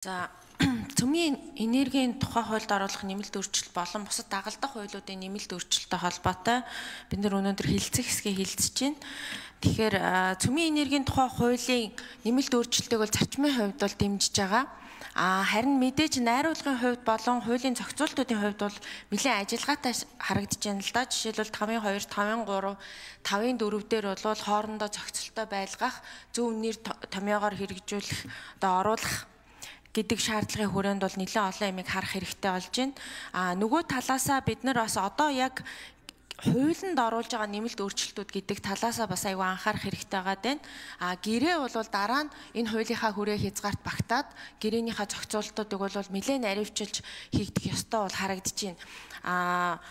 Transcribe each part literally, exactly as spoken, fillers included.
За цөмийн энергийн тухай хуульд оруулах нэмэлт өөрчлөлт болон бусад дагалдах хуулиудын нэмэлт өөрчлөлттэй холбоотой бид нар өнөөдөр хэлэлцэх хэсгээ хэлэлцэж байна. Тэгэхээр цөмийн энергийн тухай хуулийн нэмэлт өөрчлөлтийг бол зарчмын хувьд бол дэмжиж байгаа. А харин мэдээж найруулгын хувьд болон хуулийн зохицуултуудын хувьд бол нэлээд ажиллагаатай харагдаж байна л да. Жишээлбэл тавын хоёр, тавын гурав, тавын дөрөв дээр бол хоорондоо зохицолтой байлгах, зөв нэр томьёогоор хэрэгжүүлэх, одоо оруулах гэдэг шаардлагын хүрээнд бол нэлээд олон ямиг харах хэрэгтэй болж байна. А нөгөө талаасаа бид нар бас одоо яг хуулинд оруулж байгаа нэмэлт өөрчлөлтүүд гэдэг талаасаа бас аюу анхаарах хэрэгтэй байгаа байна. А гэрээ бол дараа нь энэ хуулийнхаа хүрээ хязгаарт багтаад гэрээнийхээ зохицуултуудыг бол нэлээд наривчилж хийгдэх ёстой бол харагдаж байна. А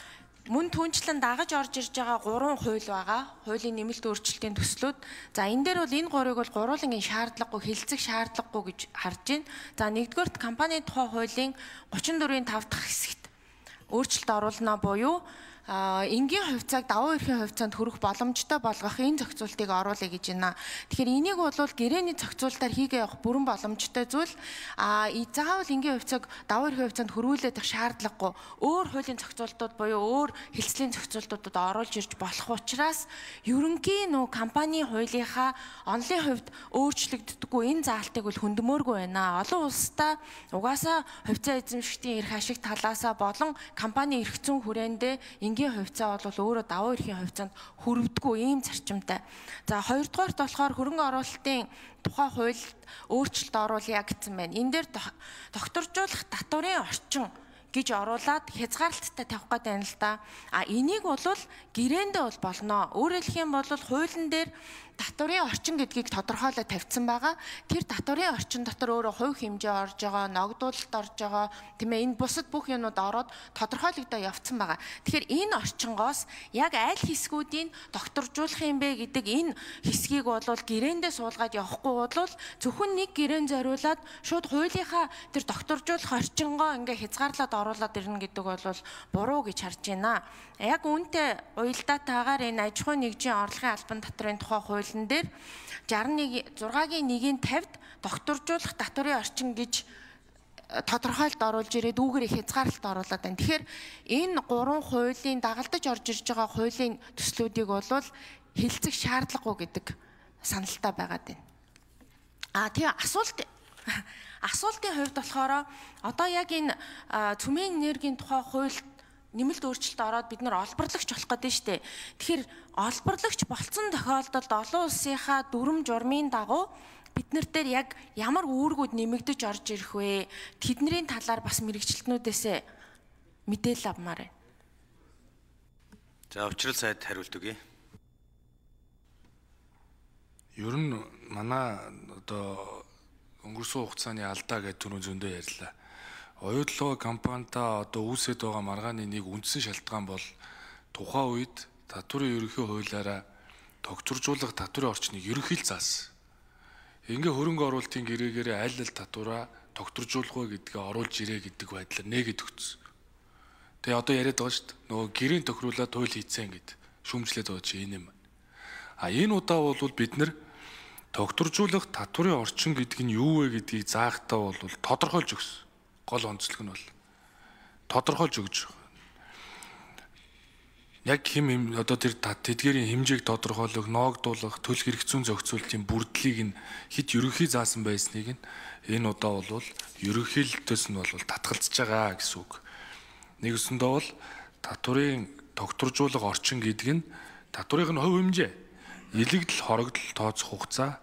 мөн түнчлэн дагаж орж ирж байгаа гурван хууль байгаа. Хуулийн нэмэлт өөрчлөлтийн төслүүд. За энэ дээр бол энэ гурыг бол гурвуулангийн шаардлагагүй, хэлцэх шаардлагагүй гэж харж байна. За нэгдүгээрт компанийн тухай хуулийн гучин дөрвийн тав дахь хэсэгт өөрчлөлт оруулна буюу энгийн хувьцааг давуу эрхийн хувьцаанд хүрэх боломжтой болгох энэ зохицуултыг оруулъя гэж байна. Тэгэхээр энийг бол гэрээний зохицуултаар хийгээ явах бүрэн боломжтой зүйл. А заавал энгийн хувьцааг давуу эрхийн хувьцаанд хүрүүлэх шаардлагагүй. Өөр хуулийн зохицуултууд буюу өөр хэлцлийн зохицуултуудад оруулж ирж болох учраас ерөнхийн нөө компанийн хуулийнхаа онлын хувьд өөрчлөгддөггүй энэ заалтыг бол хөндмөөргүй байна. Олон улстай угаасаа хувьцаа эзэмшигчдийн эрх ашиг талаасаа болон компани эрх зүйн хүрээндээ энгийн хувьцаа бол өөрөө давуу эрхийн хувьцаанд хүрвдэггүй ийм зарчимтай. За хоёрдугаарт болохоор хөрөнгө оруулалтын тухай хуульд өөрчлөлт оруулъя гэсэн байна. Энэ дээр докторжуулах татварын орчин гэж оруулаад хязгаарлалттай тавих гэдэг юм л да. А энийг бол гэрээндээ бол болно. Өөрөөр хэлэх юм бол хуулийн дээр татварын орчин гэдгийг тодорхойлоод тавьсан байгаа. Тэр татварын орчин дотор өөрөө хувь хэмжээ орж байгаа, ногдуулалт орж байгаа, тийм ээ, энэ бусад бүх юмнууд ороод тодорхойлогдоо явцсан байгаа. Тэгэхээр энэ орчингоос яг аль хэсгүүдийн докторжуулах юм бэ гэдэг энэ хэсгийг бол гэрээндээ суулгаад явахгүй бол зөвхөн нэг гэрээнд зориулаад шууд хуулийнхаа тэр докторжуулах орчингоо ингээ хязгаарлаад оруулаад ирнэ гэдэг бол буруу гэж харж байна. Яг үүнтэй уялдаатайгаар энэ аж ахуйн нэгжийн орлогын албан татврын тухай хууль дээр зургагийн нэгийн тавьд докторжуулах татварын орчин гэж тодорхойлт оруулж ирээд үүгээр хязгаарлалт оруулаад байна. Тэгэхээр энэ гурван хуулийн дагалдаж орж ирж байгаа хуулийн төслүүдийг бол хэлцэх шаардлагагүй гэдэг саналтай байгаад байна. А тийм асуулт асуултын хувьд болохоор одоо яг энэ цөмийн энергийн тухай хуульд нэмэлт өөрчлөлт ороод бид нар олборлагч болох гэдэг нь шүү дээ. Тэгэхээр олборлагч болцсон тохиолдолд олон улсынхаа дүрм журмын дагуу бид нар дээр яг ямар үүргүүд нэмэгдэж орж ирэх вэ? Тэдний талаар бас мэрэгчлэтнүүдээс мэдээлэл авмаар байна. За учрал сайд хариулт өгье. Ер нь манай одоо өнгөрсөн хугацааны алдаа гэдэг түрүү зөндөө ярьлаа. Оюутлогоо компанидаа одоо үүсэт байгаа маргааны нэг үндсэн шалтгаан бол тухайн үед татварын ерөнхий хуулиараа тогтворжуулах татварын орчныг ерөнхийд заасан. Ингээ хөрөнгө оруулалтын гэрээгээрээ аль аль татвараа тогтворжуулах вэ гэдгээ оруулж ирээ гэдэг байдлаар нээгээд өгсөн. Тэгээ одоо яриад байгаа шүү дээ. Нөгөө гэрийн тохируулаад хууль хийцэн гэд шүүмжлээд байгаа чи энэ юм. А энэ удаа бол бид нар тогтворжуулах татварын орчин гэдэг нь юу вэ гэдгийг заахтаа бол тодорхойлж өгсөн. Гол онцлог нь бол тодорхойлж өгч байгаа. Яг хэм одоо тэр тэдгээрийн хэмжээг тодорхойлох, ноогдуулах, төлөх эрх зүйн зохицуултын бүрдлийг нь хит ерөнхий заасан байсныг нь энэ удаа бол ерөнхийлөлтөөс нь бол татгалзаж байгаа гэсэн үг. Нэгсэндээ бол татварын тогтворжуулах орчин гэдэг нь татварын хувь хэмжээ, илэгдэл, хорогдол тооцох хугацаа,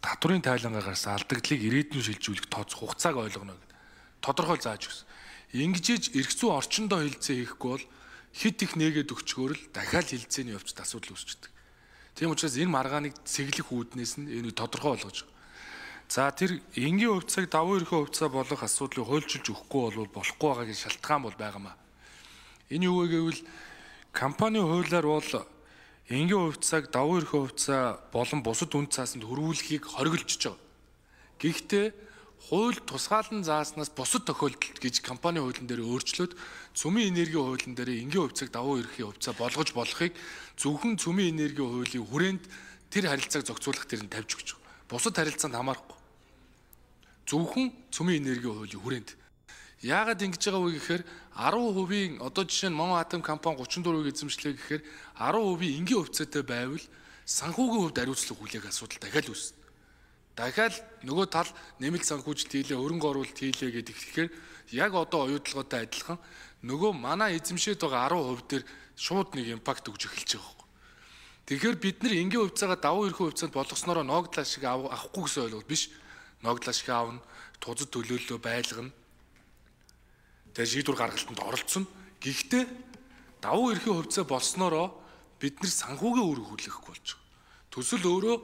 татварын тайлангаа гарсан алдагдлыг ирээдүйн шилжүүлэх тооцох хугацааг ойлгоно. Тодорхойл зааж өгсөн. Ингэж эрх зүйн орчиндоо хилцээ хийхгүй бол хит их нээгээд өгчгөөр л дахиад хилцээний явцад асуудал үүсчихдээ. Тийм учраас энэ маргааныг цэглэх үүднээс нь энэ тодорхой болгож байгаа. За тэр энгийн хувьцааг давуу эрхийн хувьцаа болох асуудлыг хуульчилж өгөхгүй бол болохгүй байгаа гэж шалтгаан бол байгаамаа. Энэ юу вэ гэвэл компани хуулиар бол энгийн хувьцааг давуу эрхийн хувьцаа болон бусад үнд цаасанд хөрвүүлэхийг хориглож байгаа. Гэхдээ хууль тусгаалan зааснаас бусад тохиолдолд гэж компани хуулийн дээр өөрчлөөд цөмийн энергийн хуулийн дээр энгийн хувьцааг давуу эрхийн хувьцаа болгож болохыг зөвхөн цөмийн энергийн хуулийн хүрээнд тэр харилцааг зохицуулах дээр нь тавьж өгч байгаа. Бусад харилцаанд хамаарахгүй. зөвхөн цөмийн энергийн хуулийн хүрээнд. Яагаад ингэж байгаа вэ гэхээр арван хувийн одоо жишээ нь Монгол Атом компани гучин дөрвийг эзэмшлээ гэхээр арван хувийн энгийн хувьцаатай байвал санхүүгийн хувьд хариуцлага хүлээх асуудал дахиад үүснэ. Дахиад нөгөө тал нэмэлт санхүүжилт хийлээ, хөрөнгө оруулалт хийлээ гэдэг ихээр яг одоо оюутлагаатай адилхан нөгөө манай эзэмшээд байгаа арван хувь дээр шууд нэг импакт өгж эхэлж байгаа. Тэгэхээр бид нар энгийн хувьцаагаа давуу эрхүү хувьцаанд болгоснороо ногдлаа шиг авахгүй гэсэн ойлголт биш. Ногдлаа шиг аавна, тузад төлөөллөө байлгана. Тэгээ шийдвэр гаргалтанд оролцсон. Гэхдээ давуу эрхээ хувьцаа болсноороо бид нар санхүүгийн үүрэг хүлээхгүй болж байгаа. Төсөл өөрөө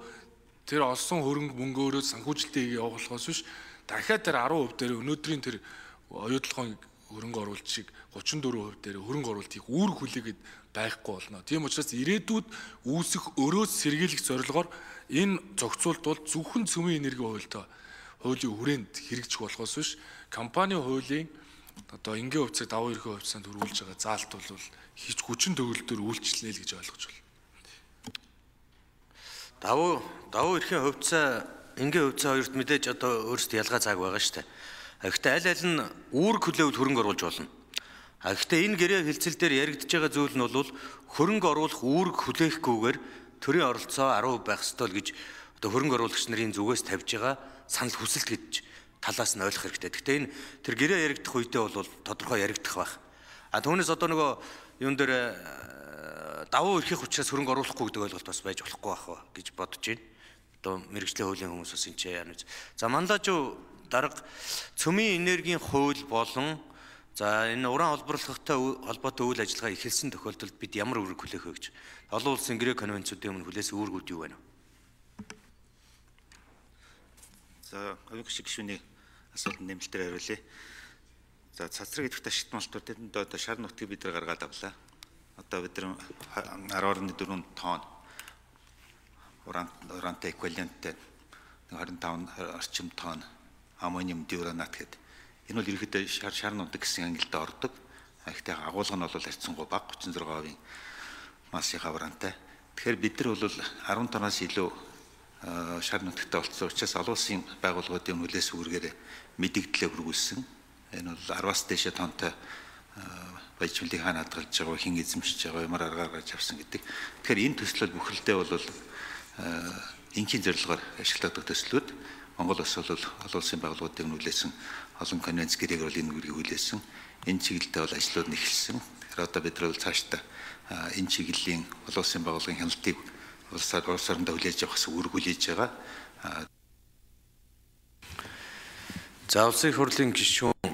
тэр олсон хөрөнгө мөнгөөрөө санхүүжилтийг явуулахаас биш дахиад тэр арван хувь дээр өнөөдрийн тэр оюутлагын хөрөнгө оруулалт шиг гучин дөрвөн хувь дээр хөрөнгө оруулалтыг үүрэг хүлээгээд байхгүй болно. Тийм учраас ирээдүйд үүсэх өрөөс сэргийлэх зорилгоор энэ зохицуулт бол зөвхөн цөмийн энергийн хуультай хуулийн хүрээнд хэрэгжих болохоос биш компани хуулийн одоо энгийн хувьцааг давуу эрхээ хувьцаанд хөрвүүлж байгаа заалт бол хич хүчин төгөлдөр үйлчлэнэ л гэж ойлгож байна. Давуу давуу эрхийн хувьцаа энгийн хувьцаа хоёрт мэдээж одоо өөрсдөө ялгаа зааг байгаа шүү дээ. Гэхдээ аль аль нь үүрэг хүлээвэл хөрөнгө оруулж болно. А гэхдээ энэ гэрээ хэлцэл дээр яригдж байгаа зүйл нь бол хөрөнгө оруулах үүрэг хүлээхгүйгээр төрийн оролцоо арван хувь байх ёстой л гэж одоо хөрөнгө оруулагч нарын зүгээс тавьж байгаа санал хүсэлт гэж талаас нь ойлгох хэрэгтэй. Гэхдээ энэ тэр гэрээ яригдах үедээ бол тодорхой яригдах байх. А түүнээс одоо нөгөө юун дээр давуу эрхийг учраас хөрөнгө оруулахгүй гэдэг ойлголт бас байж болохгүй байх гэж бодож байна. Одоо мэргэжлийн хуулийн хүмүүс бас энэ ч яа нүз. За манлажуу дарга цөмийн энергийн хууль болон за энэ уран холбоорлоготой холбоотой үйл ажиллагаа эхэлсэн тохиолдолд бид ямар үүрэг хүлээх вэ гэж. Олон улсын гэрээ конвенцүүдийн өмнө хүлээсэн үүргүүд юу байна вэ? За хувийн гишүүн гишүүний асуултанд нэмэлтээр хариулъя. За цацраг идэх ташигт малтуудад одоо шар нутгийг бид нар гаргаад авлаа. Одоо бид нар арван дөрвөн тонн уран урантай эквиваленттэй двадцать пять орчим тонн аммониум диуранат гэдэг. Энэ бол ерөнхийдөө шар шар нутаг гэсэн ангилалд ордог. Гэхдээ агуулга нь бол харьцангуй бага тридцать шесть процент массынхаа урантай. Тэгэхээр бид нар бол арван тонноос илүү шар нутагтай болсон учраас олон улсын байгууллагуудын хүлээс үүргээр мэдэгдлээ хүргүүлсэн. Энэ бол араваас дээш тонтой баяжуулыг хаана хадгалж байгаа, хэн эзэмшиж байгаа, ямар аргаар гарч авсан гэдэг. Тэгэхээр энэ төслөл бүхэлдээ бол ингийн зорилгоор ашиглагддаг төслүүд. Монгол улс бол олон улсын байгууллагуудын хүлээсэн олон конвенц гэрээгээр бол энэ үргийг хүлээсэн. Энэ чиглэлдээ бол ажлууд нь эхэлсэн. Тэгэхээр одоо бид нар бол цаашдаа энэ чиглэлийн олон улсын байгууллагын хяналтыг улсаар улсаараа хүлээж авах гэсэн үүрэг хүлээж байгаа. За улсын хурлын гишүүн